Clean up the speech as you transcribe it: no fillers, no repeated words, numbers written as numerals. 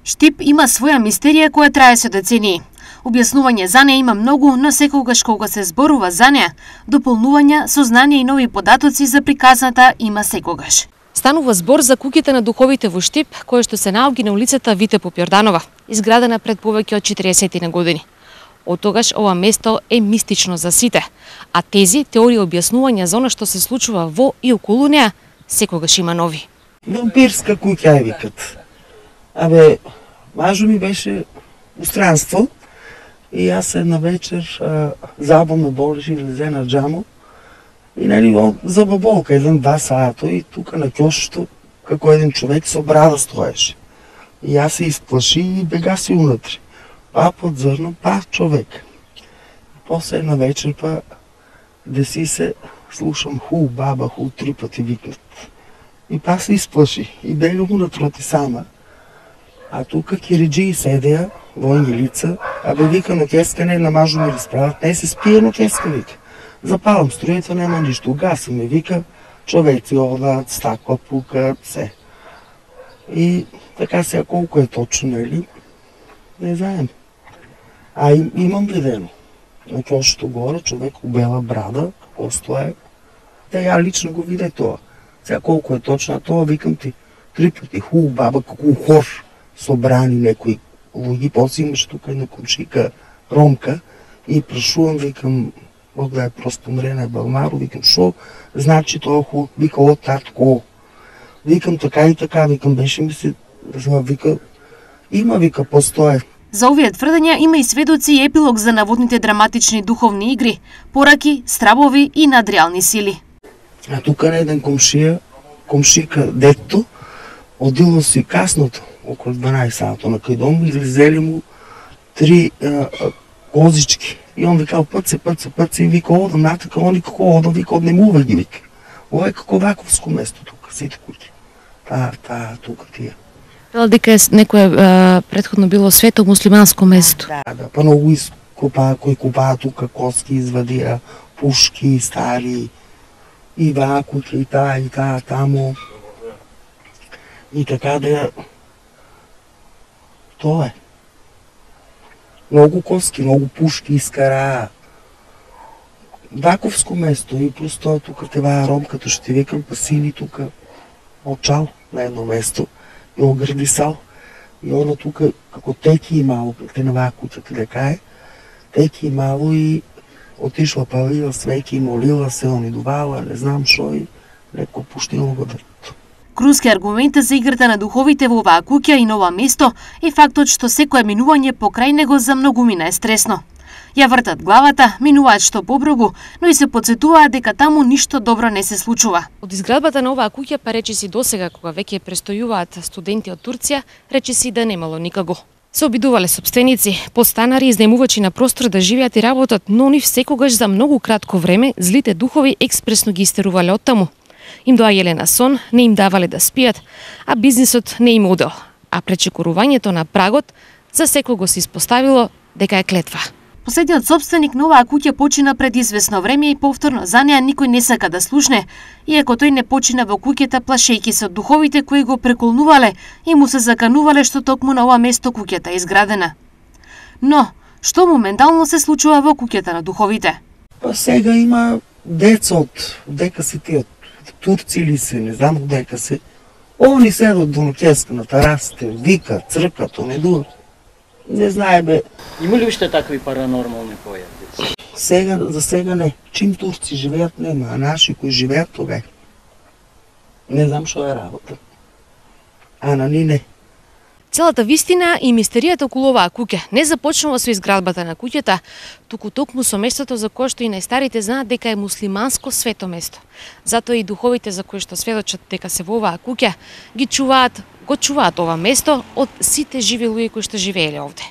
Штип има своја мистерија која трае со децении. Објаснување за неа има многу, но секогаш кога се зборува за неа, дополнувања, сознание и нови податоци за приказната има секогаш. Станува збор за куќата на духовите во Штип, која што се наоѓа на улицата Вите Попјорданова, изградена пред повеќе од 40 години. Од тогаш ова место е мистично за сите, а тези теории објаснувања за она што се случува во и околу неа секогаш има нови. Вампирска куќа е викат. Абе, мажо ми беше у странство и јас една вечер забо ме болеше и лезе на џамо и нели за баболка 1-2 сата и тука на ќошето како еден човек со брада стоеше. И јас се исплаши и бегаси унатре. Па подзрно, па човек. И после една вечер па деси се слушам ху, баба, ху, 3 пати викнат. И па се исплаши и бегам унатрати сама. А тука кириджии седеа, војни лица, абе вика но кеска не на мажу ми расправат, не се спие но кеска вика. Запалам струјата, нема ништо, угаси ме, вика, човеци одат, стакла пукат, се. И така сега колку е точно, нели, не знаем. А имам видено. На ќошето горе, човек у бела брада, како стое. Да ја лично го виде тоа. Сега колку е точно, а тоа викам ти 3 пати ху, баба, како хор собрани некои луѓи, после имаш тука една комшика ромка и прашувам, викам, Бог да е просто мрена Балмаро, викам, шо значи тоа ху, вика, о татко. Викам така и така, викам, беше ми се, вика, има, вика, постое. За овие тврдења има и сведоци и епилог за наводните драматични духовни игри, пораки, стравови и надреални сили. А тука на еден комшика детто, одило си касното, околу 12 сата на кај дом, излезели му 3 козички. И он викал път се, и вика, одам натака, они како одам, вика, однемува ги, вика. Ова е како ваковско место тука, сите куќи. Тука тие. Вела дека некое претходно било свето муслиманско место. Да, па многу кои купаа тука, коски извадија, пушки, стари, и вакуќи, и таа, тамо. И така да тоа е. Многу коски, многу пушки искараа. Ваковско место и плюс тоа тука теваа ромката што ти викам, па сини тука очал на едно место и огрдисал. И она тука како теки имало, те на ваа куќата дека е, теки имало и отишла палила свеки, молила се, онидувала, не знам шо и леко пуштило го дрто. Круски аргумент за играта на духовите во оваа куќа и на ова место е фактот што секое минување покрај него за многумина е стресно. Ја вртат главата, минуваат што поброгу, но и се потсетуваат дека таму ништо добро не се случува. Од изградбата на оваа куќа, па речиси досега кога веќе престојуваат студенти од Турција, речиси да немало никаго. Се обидувале сопственици, подстанари и изнемувачи на простор да живеат и работат, но нив секогаш за многу кратко време злите духови експресно ги истерувале оттаму. Им доаѓале на сон, не им давале да спијат, а бизнисот не им одел. А пречекорувањето на прагот за секого се испоставило дека е клетва. Последниот собственик на оваа куќа почина пред известно време и повторно за неа никој не сака да слушне, иако тој не почина во куќата плашејќи се од духовите кои го преколнувале и му се заканувале што токму на ова место куќата е изградена. Но, што моментално се случува во куќата на духовите? Па сега има деца од дека се тие турци или се, не знам дека се. Они седат до ноќеска на терасите, викат, цркат, онедува. Не знае бе. Има ли уште такви паранормални појави? Сега, за сега не. Чим турци живеат нема, а наши кои живеат тога. Не знам што е работа. А на ни не. Целата вистина и мистеријата околу оваа куќа не започнува со изградбата на куќата, туку токму со местото за кое што и најстарите знаат дека е муслиманско свето место. Затоа и духовите за кои што сведочат дека се во оваа куќа го чуваат ова место од сите живи луѓе кои што живееле овде.